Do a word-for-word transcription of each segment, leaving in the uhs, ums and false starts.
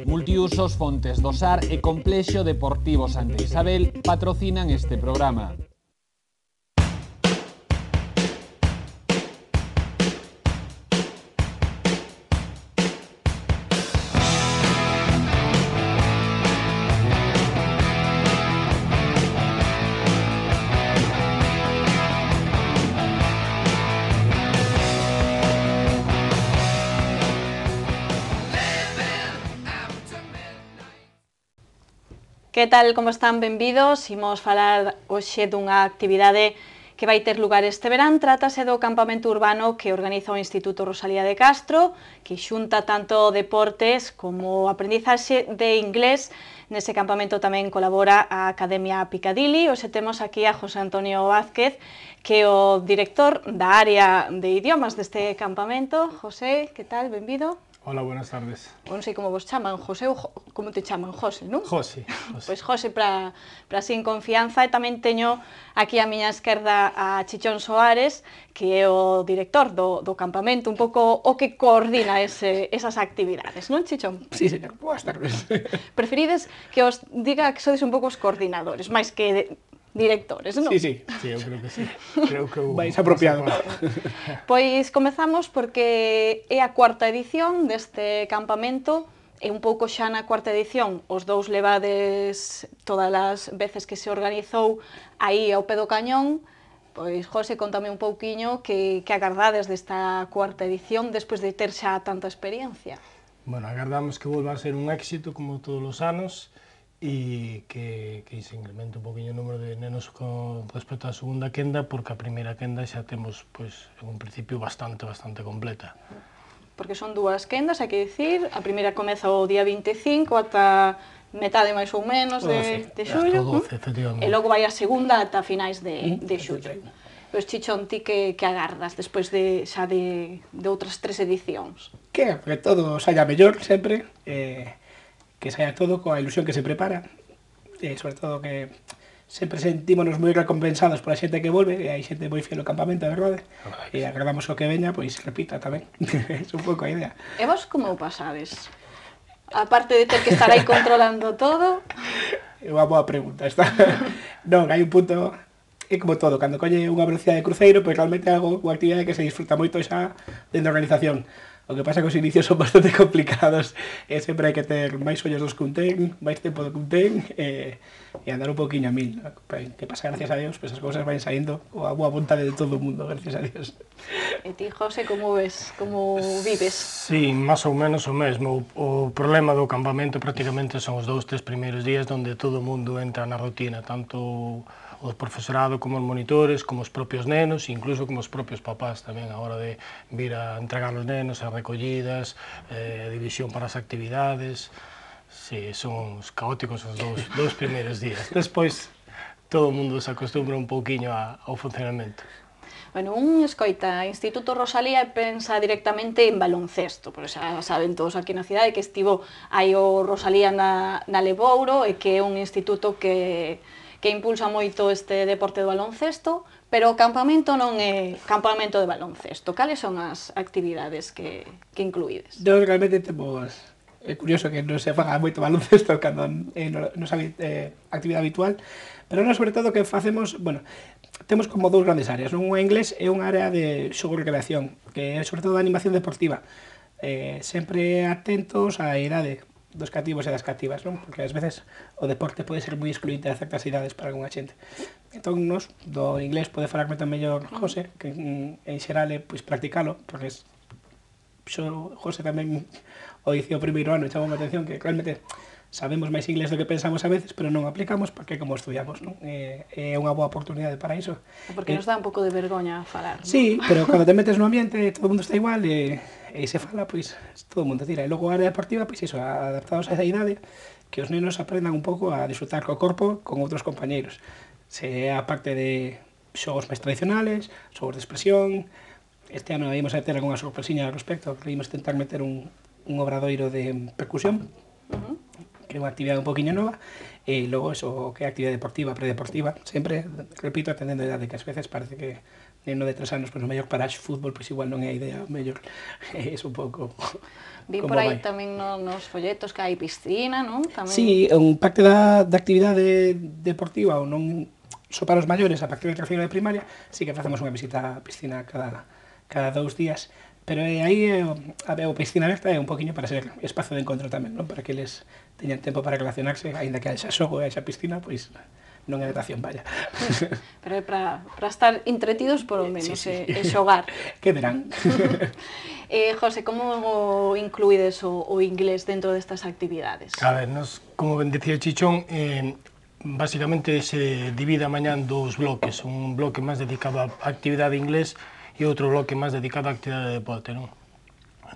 Multiusos Fontes do Sar e Complexo Deportivo Santa Isabel patrocinan este programa. Que tal, como están? Benvidos. Imos falar hoxe dunha actividade que vai ter lugar este verán. Trátase do campamento urbano que organiza o Instituto Rosalía de Castro, que xunta tanto deportes como aprendizaxe de inglés. Nese campamento tamén colabora a Academia Piccadilly. Hoxe temos aquí a José Antonio Vázquez, que é o director da área de idiomas deste campamento. José, que tal? Benvido. Hola, buenas tardes. Non sei como vos chaman, José ou como te chaman, José, non? José. Pois José, para para sin confianza, e tamén teño aquí a miña esquerda a Chichón Soares, que é o director do, do campamento, un pouco o que coordina ese, esas actividades, non, Chichón? Sí, señor, boas tardes. Preferides que os diga que sodes un pouco os coordinadores, máis que de, directores, non? Sí, sí. Sí, eu creo que sí. Creo que Vais apropiado. Pois comezamos porque é a cuarta edición deste campamento, e un pouco xa na cuarta edición os dous levades todas as veces que se organizou aí ao pé do cañón. Pois, José, contame un pouquiño que, que agardades desta cuarta edición despois de ter xa tanta experiencia. Bueno, agardamos que volva a ser un éxito como todos os anos e que, que se incremente un poquinho o número de nenos con respecto á segunda quenda, porque a primeira quenda xa temos, pois, en un principio bastante, bastante completa. Porque son dúas quendas, hai que dicir, a primeira comeza o día vinte e cinco ata metade máis ou menos de, de xullo, doce, efectivamente. E logo vai a segunda ata finais de, de xullo. Pois, Chichón, ti que, que agardas despois de, xa de, de outras tres edicións? Que, que todo saia mellor sempre, eh, que saia todo coa ilusión que se prepara, e sobre todo que sempre sentímonos moi recompensados pola xente que volve, e hai xente moi fiel ao campamento, a verdade, e agradamos o que veña, pois repita tamén, é un pouco a idea. E vos como o pasades? Aparte de ter que estar aí controlando todo... É unha boa pregunta esta. Non, hai un punto, é como todo, cando colle unha velocidade de cruceiro, pois realmente é algo, unha actividade que se disfruta moito xa dentro da organización. O que pasa é que os inicios son bastante complicados e sempre hai que ter máis ollos dos que un ten, máis tempo do que un ten e, e andar un poquinho a mil. Que pasa, gracias a Dios, pues as cousas van saindo coa boa vontade de todo o mundo, gracias a Dios. E ti, José, como ves? Como vives? Sí, máis ou menos o mesmo. O, o problema do campamento prácticamente son os dous, tres primeiros días onde todo o mundo entra na rutina, tanto o profesorado como os monitores, como os propios nenos, incluso como os propios papás tamén, a hora de vir a entregar os nenos, as recollidas, eh, división para as actividades. Sí, son os caóticos os dous, dous primeiros días. Despois, todo o mundo se acostumbra un pouquiño a, ao funcionamento. Bueno, un escoita Instituto Rosalía e pensa directamente en baloncesto, porque xa saben todos aquí na cidade que estivo aí o Rosalía na, na Lebouro e que é un instituto que que impulsa moito este deporte do baloncesto, pero o campamento non é campamento de baloncesto. Cales son as actividades que, que incluídes? Nós realmente temos... É curioso que non se faga moito baloncesto cando é nosa eh, actividade habitual, pero nós sobre todo que facemos, bueno, temos como dous grandes áreas, non? Unha inglés e unha área de xogo e recreación, que é sobre todo a animación deportiva, eh, sempre atentos á idade dos cativos e das cativas, non? Porque ás veces o deporte pode ser moi excluinte a certas idades para algunha xente. Entón, nos, do inglés pode falar moito mellor José, que en, en xeral é pois, practicalo, porque es, xo, José tamén o dicía o primeiro ano e chamou a atención que realmente sabemos máis inglés do que pensamos a veces, pero non aplicamos porque como estudiamos, non? É, é unha boa oportunidade para iso. Porque nos dá un pouco de vergoña falar, non? Sí, pero cando te metes no ambiente todo o mundo está igual e, e se fala, pois todo o mundo tira. E logo a área deportiva, pois iso, adaptados a esa idade, que os nenos aprendan un pouco a disfrutar co corpo con outros compañeiros. Se a parte de xogos máis tradicionales, xogos de expresión. Este ano íamos a ter algunha sorpresiña ao respecto, que íamos tentar meter un, un obradoiro de percusión, uh-huh. que é unha actividade un poquinho nova, e logo eso, que é actividade deportiva, predeportiva, sempre, repito, atendendo a idade, que ás veces parece que neno de tres anos, pois, no mellor para fútbol, pois igual non é a idea, mellor é un pouco... Vi por aí tamén nos folletos que hai piscina, non? Sí, un parte da actividade deportiva, ou non só para os maiores, a partir de terceiro de primaria, sí que facemos unha visita á piscina cada dous días, pero aí a piscina aberta é un poquinho para ser espazo de encontro tamén, non? Para que eles teñan tempo para relacionarse, aínda que haxa xogo e haxa piscina, pois non é natación, vaya. Pero é para estar entretidos por o menos e xogar. Que verán. José, como incluídes o inglés dentro destas actividades? A ver, como ben decía Chichón, basicamente se divide a mañá en dous bloques, un bloque máis dedicado á actividade inglés e outro bloque máis dedicado á actividade de deporte, non?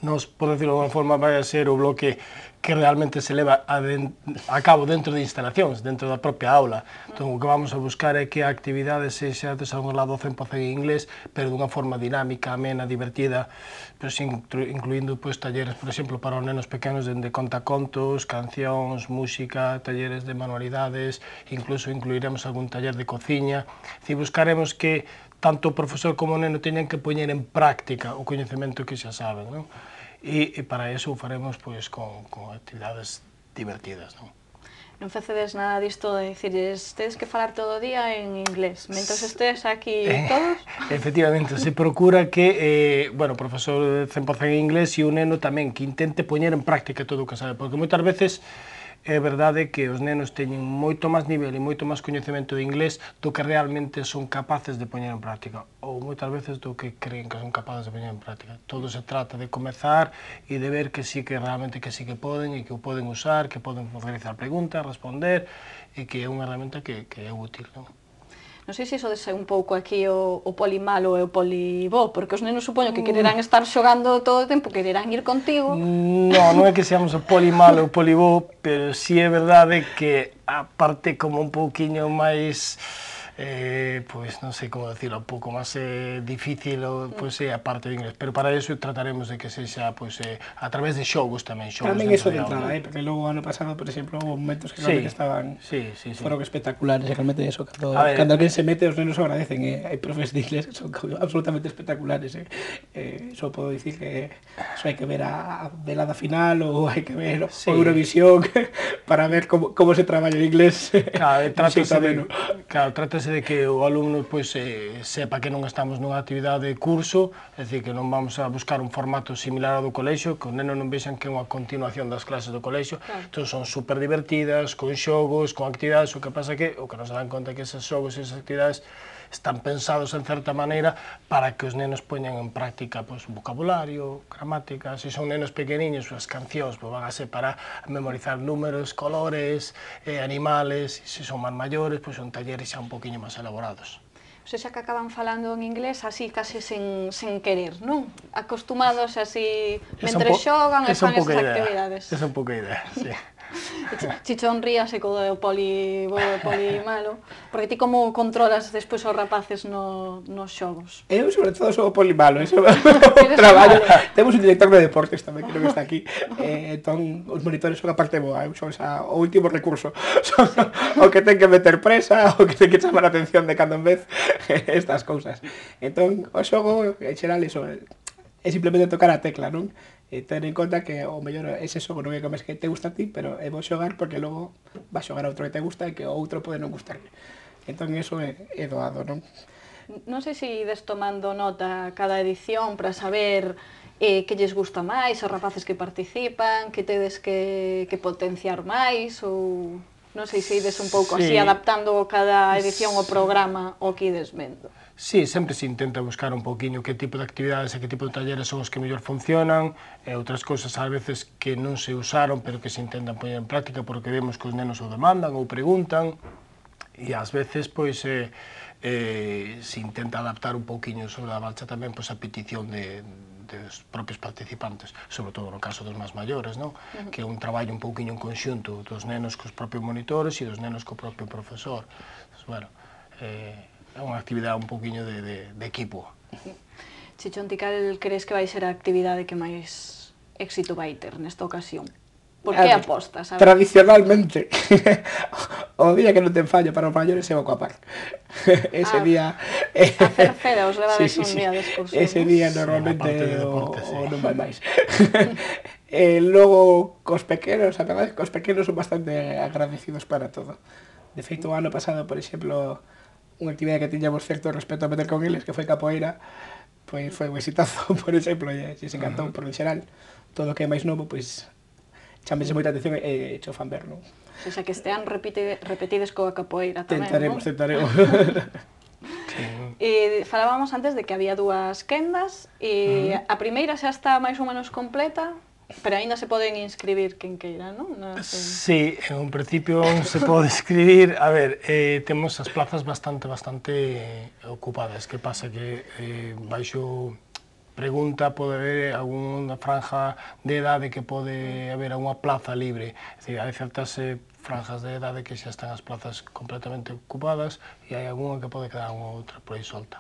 Nos, por decirlo de alguma forma, vai a ser o bloque que realmente se leva a, den, a cabo dentro de instalacións, dentro da propia aula. Entón, o que vamos a buscar é que a actividade sexa de algún lado cen por cen en inglés, pero dunha forma dinámica, amena, divertida, pero sin, incluindo pues, talleres, por exemplo, para os nenos pequenos, dende contacontos, cancións, música, talleres de manualidades, incluso incluiremos algún taller de cociña. E buscaremos que tanto o profesor como o neno teñan que poñer en práctica o coñecemento que xa saben, non? E, e para iso o faremos pois, con, con actividades divertidas, non? Non facedes nada disto de dicirles tedes que falar todo o día en inglés, mentres estés aquí eh, todos? Efectivamente, se procura que, eh, bueno, o profesor cen por cen en inglés e o neno tamén que intente poñer en práctica todo o que sabe, porque moitas veces é verdade que os nenos teñen moito máis nivel e moito máis coñecemento de inglés do que realmente son capaces de poñer en práctica, ou moitas veces do que creen que son capaces de poñer en práctica. Todo se trata de comezar e de ver que sí que realmente que sí que poden e que o poden usar, que poden realizar preguntas, responder e que é unha herramienta que, que é útil, non? Non sei se iso dese un pouco aquí o, o polimalo e o polibó, porque os nenos supoño que quererán estar xogando todo o tempo, quererán ir contigo. Non, non é que seamos o polimalo e o polibó, pero sí é verdade que a parte como un pouquiño máis, eh, pois non sei como decirlo, un pouco máis eh, difícil, pois é a parte de inglés, pero para iso trataremos de que sexa pois, eh, a través de xogos tamén. Xogos tamén iso de entrada, eh, porque logo ano pasado, por exemplo, houve momentos que realmente sí, estaban sí, sí, sí. foron espectaculares, e realmente eso, cando, cando alguén se mete, os nenos agradecen, eh, hai profes de inglés que son absolutamente espectaculares, eh, eh, só podo dicir que só hai que ver a velada final ou hai que ver sí. o Eurovisión para ver como, como se traballa en inglés. Claro, trátase de, claro, trátase de que o alumno pois, eh, sepa que non estamos nunha actividade de curso, é dicir, que non vamos a buscar un formato similar ao do colexio, que os nenos non vexan que é unha continuación das clases do colexio, claro. Entón son super divertidas, con xogos, con actividades, o que pasa que o que nos dan conta é que esos xogos e esas actividades están pensados en certa maneira para que os nenos poñan en práctica pois, vocabulario, gramática, se son nenos pequeniños, as cancións pois, van a ser para memorizar números, colores, eh, animales, e se son máis maiores, pois, son talleres xa un poquinho máis elaborados. O sea, xa que acaban falando en inglés así, case sen, sen querer, non? Acostumados así, mentre xogan e fan esas actividades. Esa é un pouco a idea, sí. Chichón ríase co do poli bo e poli malo, porque ti como controlas despois os rapaces no, nos xogos? Eu, sobre todo, sou o poli malo, eso é o traballo. Temos un director de deportes tamén, creo que está aquí, eh, entón, os monitores son a parte boa, eu son xa, o último recurso, son o que ten que meter presa, o que ten que chamar a atención de cando en vez, estas cousas. Entón, o xogo, en xeral, iso, é simplemente tocar a tecla, non? E ten en conta que o mellor ese xogo non é como que te gusta a ti, pero é bo xogar porque logo vas xogar a outro que te gusta e que o outro pode non gustarle. Entón, eso é, é doado, non? Non sei se ides tomando nota cada edición para saber eh, que lles gusta máis, os rapaces que participan, que tedes que, que potenciar máis, ou non sei se ides un pouco sí. así, adaptando cada edición o programa o que ides vendo. Sí, sempre se intenta buscar un poquinho que tipo de actividades e que tipo de talleres son os que mellor funcionan, e outras cousas ás veces que non se usaron, pero que se intentan poñer en práctica porque vemos que os nenos o demandan ou preguntan, e ás veces pois eh, eh, se intenta adaptar un poquinho sobre a marcha tamén pois, a petición de, dos propios participantes, sobre todo no caso dos máis maiores, non? Uh-huh. Que é un traballo un pouquinho en conxunto dos nenos cos propios monitores e dos nenos co propio profesor. Entonces, bueno, eh, é unha actividade un poquinho de, de, de equipo. Chichón, ti cal crees que vai ser a actividade que máis éxito vai ter nesta ocasión? Por que apostas? Tradicionalmente, o día que non ten fallo para os maiores é o Aquapark. Ese Ah, día... A Cerceda os levades Sí, sí, un sí. día de excursión, Ese non? día Sí, normalmente na parte de o, deporte, sí. o non vai máis. E logo, cos pequenos, a verdade é que cos pequenos son bastante agradecidos para todo. De feito, o ano pasado, por exemplo, unha actividade que tiñamos certo respeto a meter con eles, que foi capoeira, pois foi un exitazo, por exemplo, e se encantou, por en xeral, todo o que é máis novo, pois chámese moita atención e cho fan ver, non? O sea, que este ano repite, repetides coa capoeira tamén, Tentaremos, non? tentaremos. E falábamos antes de que había dúas quendas e uh -huh. a primeira xa está máis ou menos completa, pero aínda se poden inscribir quen queira, non? No, sí, en un principio se pode escribir. A ver, eh, temos as plazas bastante, bastante ocupadas. Que pasa que eh, baixo pregunta pode haber algunha franja de edade que pode haber algunha plaza libre. É dicir, hai certas eh, franjas de edade que xa están as plazas completamente ocupadas e hai algunha que pode quedar unha outra por aí solta.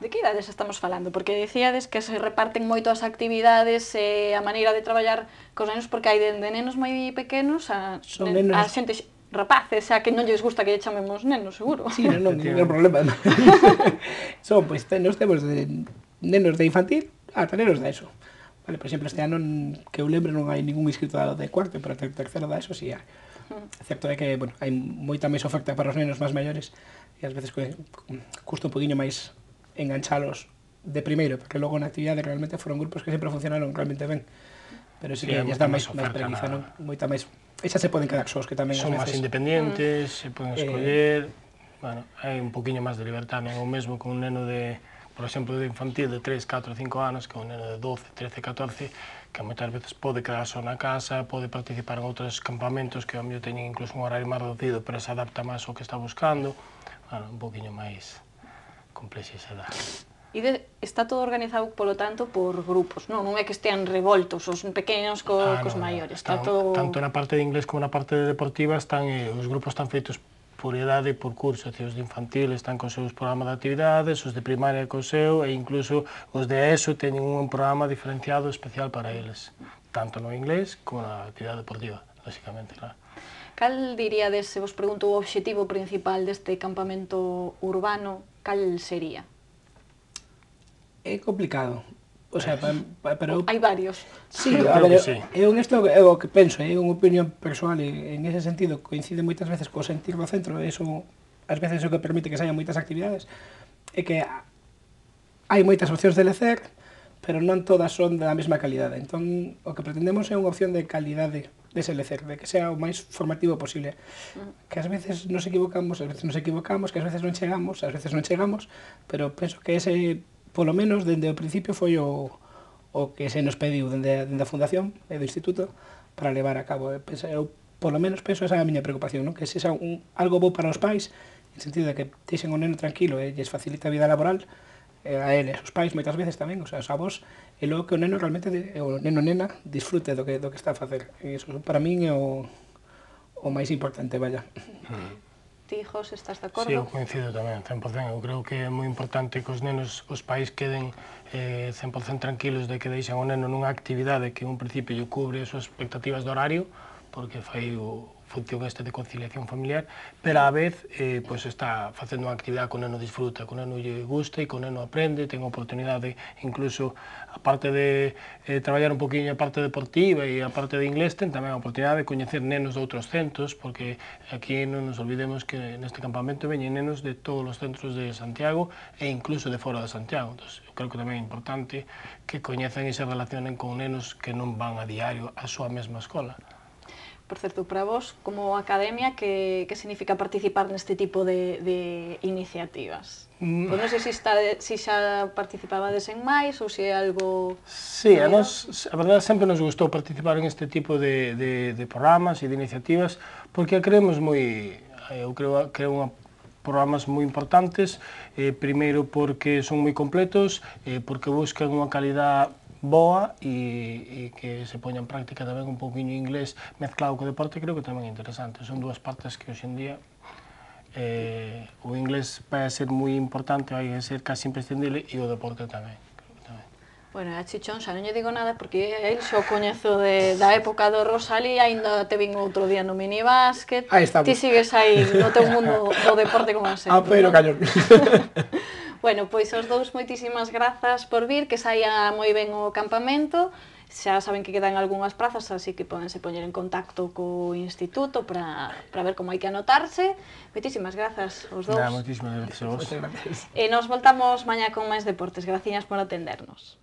De que idades estamos falando? Porque dicíades que se reparten moito as actividades e a maneira de traballar cos nenos, porque hai de, de nenos moi pequenos a, Son nen, nenos... a xente rapaces, xa que non lles gusta que lle chamemos nenos, seguro. Sí, non, non, non é problema. Son, pois, pues, nos temos de nenos de infantil ata nenos de ESO. Vale, por exemplo, este ano, que eu lembro, non hai ningún inscrito de cuarto, pero de tercero da ESO sí hai. Certo é que, bueno, hai moita máis oferta para os nenos máis maiores e ás veces custa un poquinho máis enganchalos de primeiro, porque logo na actividade realmente foron grupos que sempre funcionaron realmente ben. Pero sí, sí que lles dá máis preguiza, non? Moita máis... E xa se poden quedar sós, que tamén son máis independientes, mm. se poden escoller... Eh... Bueno, hai un poquinho máis de liberdade, non o mesmo con un neno de, por exemplo, de infantil de tres, catro, cinco anos, que un neno de doce, trece, catorce, que moitas veces pode quedar só na casa, pode participar en outros campamentos que ao mellor teñen incluso un horario máis reducido, pero se adapta máis ao que está buscando. Bueno, un poquinho máis complexidade. E de, está todo organizado, polo tanto, por grupos, non? Non é que estean revoltos os pequenos co, ah, cos no, maiores, está están, todo... Tanto na parte de inglés como na parte de deportiva están, eh, os grupos están feitos por idade e por curso, os de infantil están con seus programas de actividades, os de primaria co seu, e incluso os de ESO teñen un programa diferenciado especial para eles, tanto no inglés como na actividade deportiva, lógicamente, claro. Cal diríades, se vos pregunto o obxectivo principal deste campamento urbano, cal sería? É complicado. O sea, pa, pa, pero... Hai varios. Sí, a ver, sí. Eu isto é o que penso, é unha opinión persoal e en ese sentido coincide moitas veces co sentir do centro, e iso ás veces o que permite que se haya moitas actividades, é que hai moitas opcións de lecer, pero non todas son da mesma calidade. Entón, o que pretendemos é unha opción de calidade dese lecer, de que sea o máis formativo posible. Que ás veces nos equivocamos, ás veces nos equivocamos, que ás veces non chegamos, ás veces non chegamos, pero penso que ese, polo menos, dende o principio foi o, o que se nos pediu dende, dende a Fundación e do Instituto para levar a cabo. Eu, polo menos, penso esa é a miña preocupación, non? Que se xa un, algo bo para os pais, en sentido de que deixen o neno tranquilo e lles facilita a vida laboral, a eles, os pais moitas veces tamén, o sea, os avós, e logo que o neno realmente, o neno nena, disfrute do que, do que está a facer. E iso para min é o, o máis importante, vaya. Ti, José, estás de acordo? Sí, eu coincido tamén, cen por cen. Eu creo que é moi importante que os nenos, os pais queden eh, cen por cen tranquilos de que deixan o neno nunha actividade que en un principio lle cubre as súas expectativas de horario, porque fai o función este de conciliación familiar, pero á vez eh, pues está facendo unha actividade que o neno disfruta, que o neno lle gusta e que o neno aprende, ten a oportunidade, incluso, aparte de eh, traballar un poquinho a parte deportiva e a parte de inglés, ten tamén a oportunidade de coñecer nenos de outros centros, porque aquí non nos olvidemos que neste campamento veñen nenos de todos os centros de Santiago e incluso de fora de Santiago. Entón, eu creo que tamén é importante que coñezan e se relacionen con nenos que non van a diario á súa mesma escola. Por certo, para vos, como academia, que, que significa participar neste tipo de, de iniciativas? Mm. Pois non sei se, está, se xa participabades en máis ou se é algo... Sí, a nos, a verdade, sempre nos gustou participar en este tipo de, de, de programas e de iniciativas, porque creemos moi... Eu creo que é unha programas moi importantes, eh, primeiro porque son moi completos, eh, porque buscan unha calidad boa e, e que se poña en práctica tamén un pouquinho inglés mezclado co deporte, creo que tamén é interesante. Son dúas partes que hoxe en día eh, o inglés vai a ser moi importante, vai a ser casi imprescindible, e o deporte tamén. tamén. Bueno, a Chichón xa non lle digo nada porque el xo coñezo de, da época do Rosalía, aínda te vin outro día no minibásquet. Aí estamos. Ti sigues aí no teu mundo do deporte como sempre. Ah, pero cañón. Bueno, pois os dous moitísimas grazas por vir, que saia moi ben o campamento. Xa saben que quedan algunhas prazas, así que podense poñer en contacto co instituto para ver como hai que anotarse. Moitísimas grazas aos dous. Moitísimas grazas a vos. E nos voltamos mañá con máis deportes. Graciñas por atendernos.